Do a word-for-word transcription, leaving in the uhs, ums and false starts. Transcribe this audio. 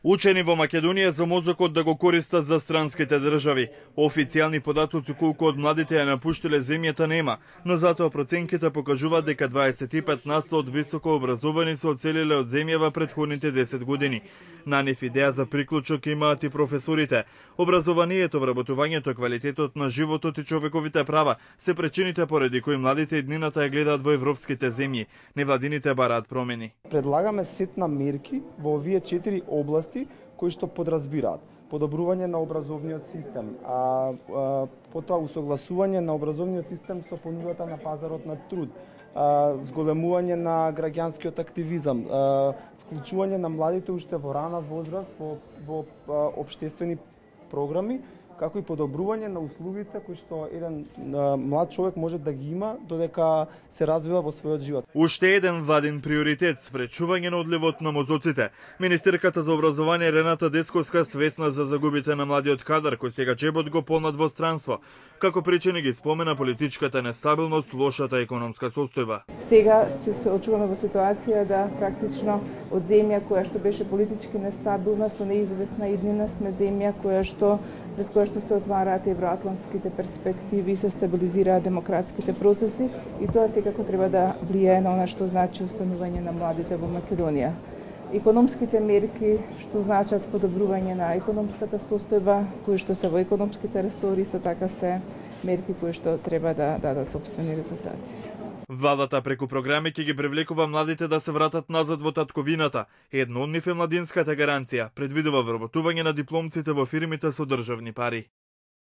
Учени во Македонија за мозокот да го користат за странските држави. Официјални податоци колку од младите ја напуштиле земјата нема, но затоа проценките покажуваат дека дваесет и пет на сто од високо образовани се оцелиле од земја во претходните десет години. На нив идеја за приклучок имаат и професорите. Образованието, вработувањето, квалитетот на животот и човековите права се причините поради кои младите иднината ја гледаат во европските земји. Невладините бараат промени. Предлагаме сет на мерки во овие четири области кои што подразбираат подобрување на образовниот систем, а, а потоа усогласување на образовниот систем со понудата на пазарот на труд, а, зголемување на граѓанскиот активизам, а, вклучување на младите уште во рана возраст во, во а, општествени програми, како и подобрување на условите кои што еден а, млад човек може да ги има додека се развива во својот живот. Уште еден владин приоритет – спречување на одливот на мозоците. Министерката за образование Рената Десковска свесна за загубите на младиот кадар кој сега джебот го полнат во странство. Како причини ги спомена политичката нестабилност, лошата економска состојба. Сега се очуваме во ситуација да практично од земја која што беше политички нестабилна со неизвестна иднина сме земја која што пред која што се отвараат евроатлантските перспективи и се стабилизираат демократските процеси и тоа секако треба да влијае на она што значи останување на младите во Македонија. Економските мерки што значат подобрување на економската состојба, кои што се во економските ресори, исто така се мерки кои што треба да дадат сопствени резултати. Владата преку програми ќе ги привлекува младите да се вратат назад во татковината. Едно од нив е младинската гаранција, предвидува вработување на дипломците во фирмите со државни пари.